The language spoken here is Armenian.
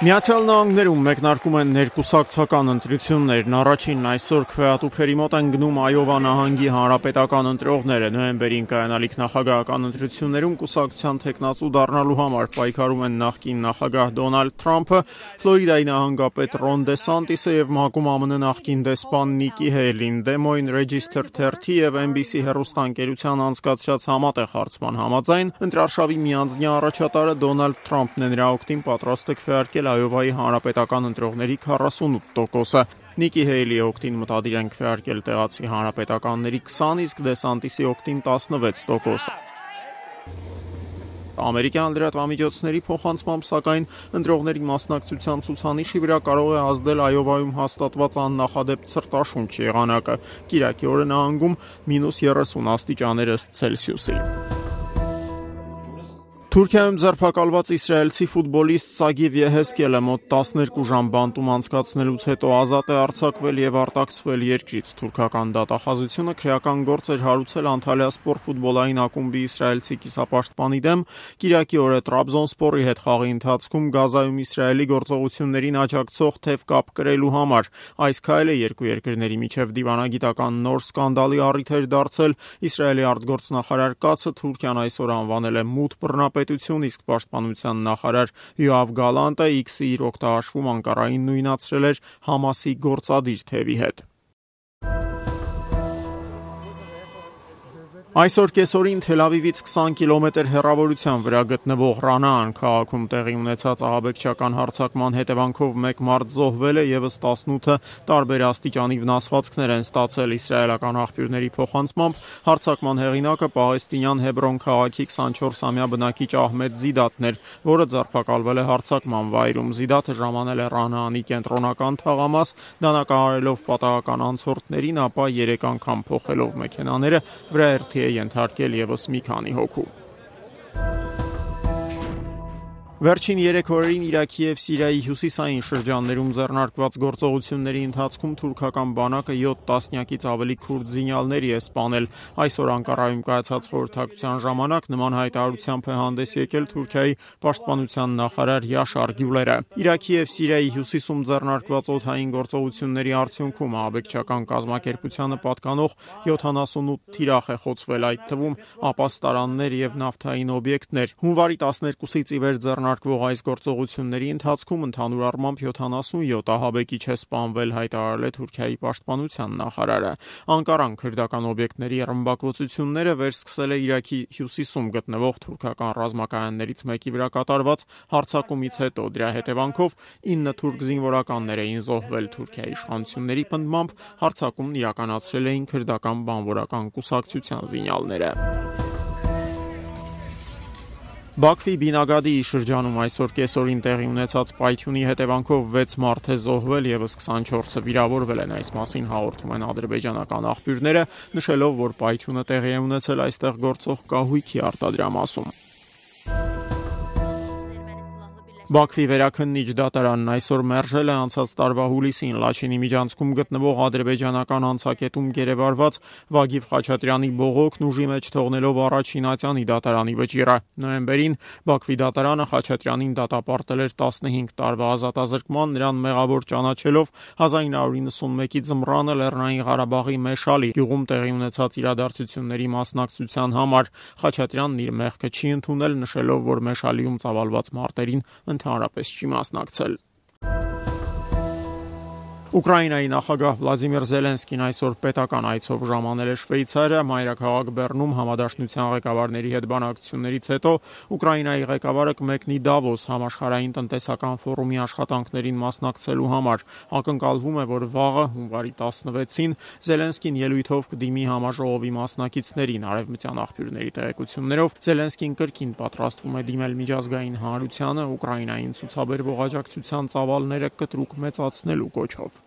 Միացյալ Նահանգներում մեկնարկում են ներկուսակցական ընտրություններն, առաջինն այսօր քվեատուփերի մոտ են գնում Այովա նահանգի հանրապետական ընտրողները, նոյեմբերին կայանալիք նախագահական ընտրություններում կուսակցության թեկնածու դառնալու համար պայքարում են նախկին նախագահ Դոնալդ Թրամփը, Ֆլորիդայի նահանգապետ Ռոն Դեսանտիսը եւ ՄԱԿ-ում ԱՄՆ նախկին դեսպան Նիկի Հեյլին, Des Moines Register 30 եւ NBC հեռուստաընկերության անցկացրած համատեղ հարցման համաձայն, ընտրարշավի միանձնյա առաջատարը Դոնալդ Թրամփն է նրա օգտին պատրաստ է քվեարկել Այովայի հանրապետական ընտրողների 48%-ը։ Նիկի Հեյլի օգտին մտադիր են քվեարկել տեղացի հանրապետականների 20, իսկ Դեսանտիսի օգտին 16%։ Ամերիկյան լրատվամիջոցների փոխանցմամբ, սակայն ընտրողների մասնակցության ցուցանիշի վրա կարող է ազդել Այովայում հաստատված աննախադեպ ցրտաշունչ եղանակը։ Կիրակի օրը նահանգում -30 աստիճաներ ըստ Ցելսիուսի։ Թուրքիայում ձերբակալված իսրայելցի ֆուտբոլիստ Սագիվ Եհեսկելը մոտ 12 ժամ բանտում անցկացնելուց հետո ազատ է արձակվել եւ արտաքսվել երկրից։ Թուրքական դատախազությունը քրեական գործ էր հարուցել Անտալիասպոր ֆուտբոլային ակումբի իսրայելցի կիսապաշտպանի դեմ Կիրակի օրը Տրաբզոնսպորի հետ խաղի ընթացքում Գազայում Իսրայելի գործողություններին աջակցող թեւ կապ կրելու համար։ Այս քայլը երկու երկրների միջև դիվանագիտական նոր սկանդալի առիթ էր դարձել։ Իսրայելի արտգործնախարար Կացը Թուրքիան այսօր անվանել է մութ բռնապետություն, իսկ պաշտպանության նախարար Յոավ Գալանտը X-ի իր օգտահաշվում Անկարային նույնացրել էր Համասի գործադիր թևի հետ։ Այսօր կեսօրին Թել Ավիվից 20 կիլոմետր հեռավորության վրա գտնվող Ռանաան քաղաքում տեղի ունեցած ահաբեկչական հարձակման հետևանքով 1 մարդ զոհվել է, եւս 18-ը տարբեր աստիճանի վնասվածքներ են ստացել։ Իսրայելական աղբյուրների փոխանցմամբ հարձակման հեղինակը պաղեստինյան Հեբրոն քաղաքի 24-ամյա բնակիչ Ահմեդ Զիդատն էր, որը ձերբակալվել է հարձակման վայրում։ Զիդատը ժամանել է Ռանաանի կենտրոնական թաղամաս, դանակահարելով պատահական անցորդներին, ապա 3 անգամ փոխելով մեքենաները վրաերթի ենթարկել եւս մի քանի հոգու։ Վերջին 3 օրերին Իրաքի եւ Սիրիայի հյուսիսային շրջաններում ձեռնարկված գործողությունների ընթացքում թուրքական բանակը 7 տասնյակից ավելի քուրդ զինյալների է սպանել։ Այսօր Անկարայում կայացած խորհրդակցության ժամանակ նման հայտարարությամբ է հանդես եկել Թուրքիայի պաշտպանության նախարար Յաշար Գյուլերը։ Իրաքի եւ Սիրիայի հյուսիսում ձեռնարկված օդային գործողությունների արդյունքում ահաբեկչական կազմակերպությանը պատկանող 78 թիրախ է խոցվել, այդ թվում ապաստարաններ եւ նավթային օբյեկտներ։ Հունվարի 12-ից ի վեր ձեռնարկվող այս գործողությունների ընթացքում ընդհանուր առմամբ 77 ահաբեկիչ է սպանվել, հայտարարել է Թուրքիայի պաշտպանության նախարարը։ Անկարան քրդական օբյեկտների ռմբակոծությունները վերսկսել է Իրաքի հյուսիսում գտնվող թուրքական ռազմակայաններից մեկի վրա կատարված հարձակումից հետո։ Դրա հետևանքով 9 թուրք զինվորականներ էին զոհվել։ Թուրքիայի իշխանությունների պնդմամբ հարձակումն իրականացրել էին քրդական բանվորական կուսակցության զինյալները։ Բաքվի Բինագադիի շրջանում այսօր կեսօրին տեղի ունեցած պայթյունի հետևանքով 6 մարդ է զոհվել, եւս 24-ը վիրավորվել են։ Այս մասին հաղորդում են ադրբեջանական աղբյուրները, նշելով, որ պայթյունը տեղի է ունեցել այստեղ գործող կահույքի արտադրամասում։ Բաքվի վերաքննիչ դատարանն այսօր մերժել է անցած տարվա հուլիսին Լաչինի միջանցքում գտնվող ադրբեջանական անցակետում գերեվարված Վագիվ Խաչատրյանի բողոքն ուժի մեջ թողնելով առաջին ատյանի դատարանի վճիռը։ Նոյեմբերին Բաքվի դատարանը Խաչատրյանին դատապարտել էր 15 տարվա ազատազրկման, նրան մեղավոր ճանաչելով 1991-ի ձմռանը Լեռնային Ղարաբաղի Մեշալի գյուղում տեղի ունեցած իրադարձությունների մասնակցության համար։ Խաչատրյանն իր մեղքը չի ընդունել, նշելով, որ Մեշալիում ծավալված մարտերին ընդհանրապես չի մասնակցել։ Ուկրաինայի նախագահ Վլադիմիր Զելենսկին այսօր պետական այցով ժամանել է Շվեյցարիա, մայրաքաղաք Բեռնում համադաշնության ղեկավարների հետ բանակցություններից հետո Ուկրաինայի ղեկավարը կմեկնի Դավոս համաշխարհային տնտեսական ֆորումի աշխատանքներին մասնակցելու համար։ Ակնկալվում է, որ վաղը հունվարի 16-ին Զելենսկին ելույթով կդիմի համաժողովի մասնակիցներին։ Արևմտյան աղբյուրների տեղեկություններով Զելենսկին կրկին պատրաստվում է դիմել միջազգային հանրությանը Ուկրաինային ցուցաբերվող աջակցության ծավալները կտրուկ մեծացնելու կոչով։